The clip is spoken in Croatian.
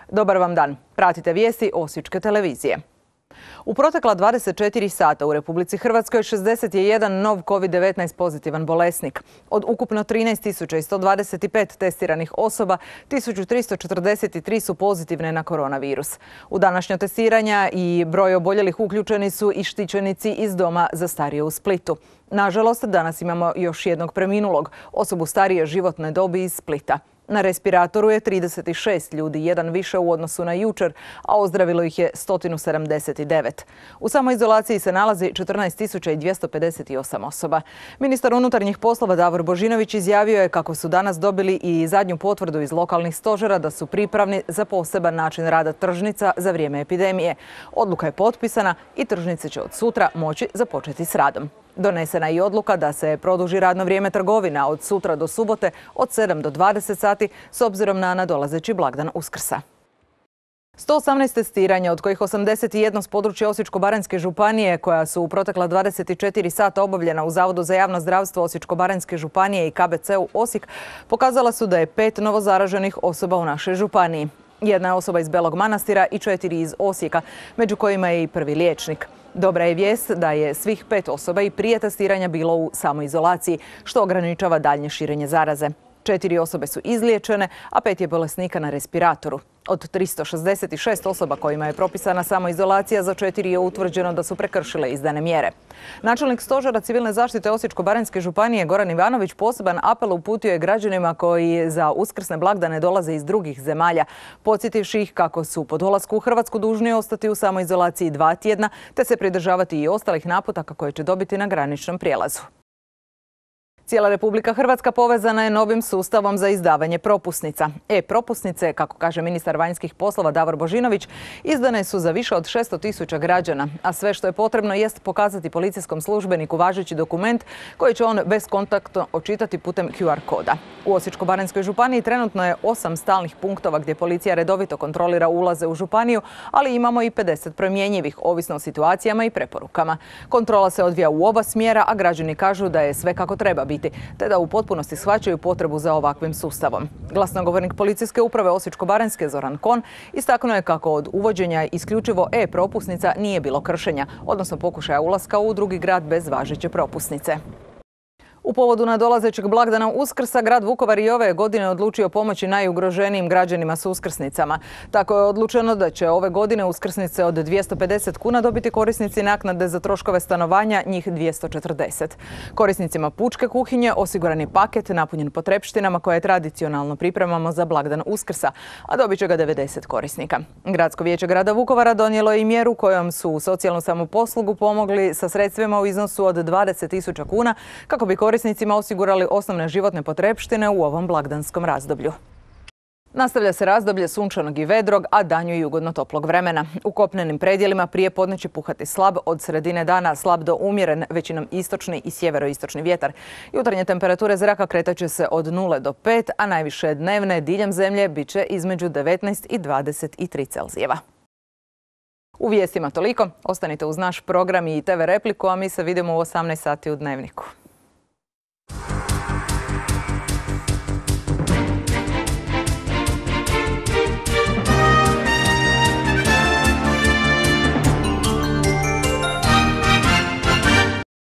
Dobar vam dan. Pratite vijesti Osječke televizije. U protekla 24 sata u Republici Hrvatskoj 61 nov COVID-19 pozitivan bolesnik. Od ukupno 13.125 testiranih osoba, 1.343 su pozitivne na koronavirus. U današnja testiranja i broj oboljelih uključeni su i štićenici iz doma za starije u Splitu. Nažalost, danas imamo još jednog preminulog, osobu starije životne dobi iz Splita. Na respiratoru je 36 ljudi, jedan više u odnosu na jučer, a ozdravilo ih je 179. U samoizolaciji se nalazi 14.258 osoba. Ministar unutarnjih poslova Davor Božinović izjavio je kako su danas dobili i zadnju potvrdu iz lokalnih stožera da su pripravni za poseban način rada tržnica za vrijeme epidemije. Odluka je potpisana i tržnice će od sutra moći započeti s radom. Donesena je i odluka da se produži radno vrijeme trgovina od sutra do subote od 7 do 20 sati s obzirom na nadolazeći blagdan Uskrsa. 118 testiranja, od kojih 81 s područja Osječko-baranjske županije, koja su u protekla 24 sata obavljena u Zavodu za javno zdravstvo Osječko-baranjske županije i KBC-u Osijek, pokazala su da je 5 novozaraženih osoba u našoj županiji. Jedna je osoba iz Belog Manastira i 4 iz Osijeka, među kojima je i prvi liječnik. Dobra je vijest da je svih 5 osoba i prije testiranja bilo u samoizolaciji, što ograničava daljnje širenje zaraze. 4 osobe su izliječene, a 5 je bolesnika na respiratoru. Od 366 osoba kojima je propisana samoizolacija, za 4 je utvrđeno da su prekršile izdane mjere. Načelnik Stožera civilne zaštite Osječko-baranjske županije Goran Ivanović poseban apel uputio je građanima koji za uskrsne blagdane dolaze iz drugih zemalja, podsjetivši ih kako su po dolasku u Hrvatsku dužni ostati u samoizolaciji 2 tjedna, te se pridržavati i ostalih naputaka koje će dobiti na graničnom prijelazu. Cijela Republika Hrvatska povezana je novim sustavom za izdavanje propusnica. E-propusnice, kako kaže ministar vanjskih poslova Davor Božinović, izdane su za više od 600.000 građana, a sve što je potrebno jest pokazati policijskom službeniku važeći dokument koji će on bezkontaktno očitati putem QR koda. U Osječko-baranjskoj županiji trenutno je 8 stalnih punktova gdje policija redovito kontrolira ulaze u županiju, ali imamo i 50 promjenjivih, ovisno o situacijama i preporukama. Kontrola se odvija u oba smjera, a građani kažu da je sve kako treba biti, te da u potpunosti shvaćaju potrebu za ovakvim sustavom. Glasnogovornik Policijske uprave Osječko-baranjske Zoran Kon istaknuo je kako od uvođenja isključivo e-propusnica nije bilo kršenja, odnosno pokušaja ulaska u drugi grad bez važeće propusnice. U povodu nadolazećeg blagdana Uskrsa, grad Vukovar i ove godine odlučio pomoći najugroženijim građanima s uskrsnicama. Tako je odlučeno da će ove godine uskrsnice od 250 kuna dobiti korisnici naknade za troškove stanovanja, njih 240. Korisnicima pučke kuhinje osiguran je paket napunjen potrepštinama koje tradicionalno pripremamo za blagdan Uskrsa, a dobit će ga 90 korisnika. Gradsko vijeće grada Vukovara donijelo je i mjeru kojom su u socijalnu samoposlugu pomogli sa sredstvima u iznosu od 20.000 kuna kako bi korisnicima osigurali osnovne životne potrepštine u ovom blagdanskom razdoblju. Nastavlja se razdoblje sunčanog i vedrog, a danju i ugodno toplog vremena. U kopnenim predjelima prije podne će puhati slab, od sredine dana slab do umjeren, većinom istočni i sjeveroistočni vjetar. Jutarnje temperature zraka kretat će se od 0 do 5, a najviše dnevne diljem zemlje bit će između 19 i 23 Celzijeva. U vijestima toliko. Ostanite uz naš program i TV repliku, a mi se vidimo u 18 sati u Dnevniku.